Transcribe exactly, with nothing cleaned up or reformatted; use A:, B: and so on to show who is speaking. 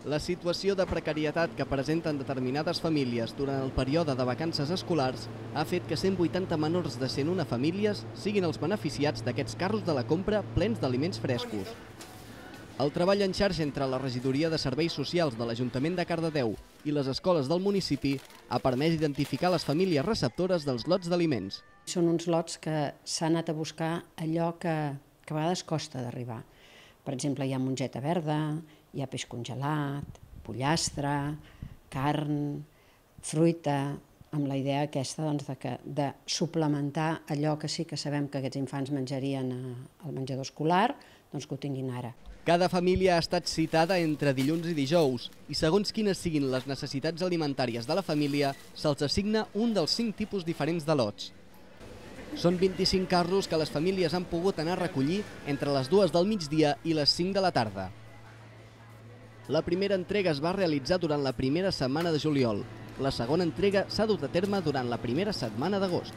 A: La situació de precarietat que presenten determinades famílies durant el període de vacances escolars ha fet que cent vuitanta menors de cent una famílies siguin els beneficiats d'aquests carros de la compra plens d'aliments frescos. El treball en xarxa entre la Regidoria de Serveis Socials de l'Ajuntament de Cardedeu i les escoles del municipi ha permès identificar les famílies receptores dels lots d'aliments.
B: Són uns lots que s'ha anat a buscar allò que, que a vegades costa d'arribar. Per exemple, hi ha mongeta verda, hi ha peix congelat, pollastre, carn, fruita, amb la idea aquesta doncs, de, que, de suplementar allò que sí que sabem que aquests infants menjarien al menjador escolar, doncs que ho tinguin ara.
A: Cada família ha estat citada entre dilluns i dijous i segons quines siguin les necessitats alimentàries de la família, se'ls assigna un dels cinc tipus diferents de lots. Són vint-i-cinc carros que les famílies han pogut anar a recollir entre les dues del migdia i les cinc de la tarda. La primera entrega es va realitzar durant la primera setmana de juliol. La segona entrega s'ha dut a terme durant la primera setmana d'agost.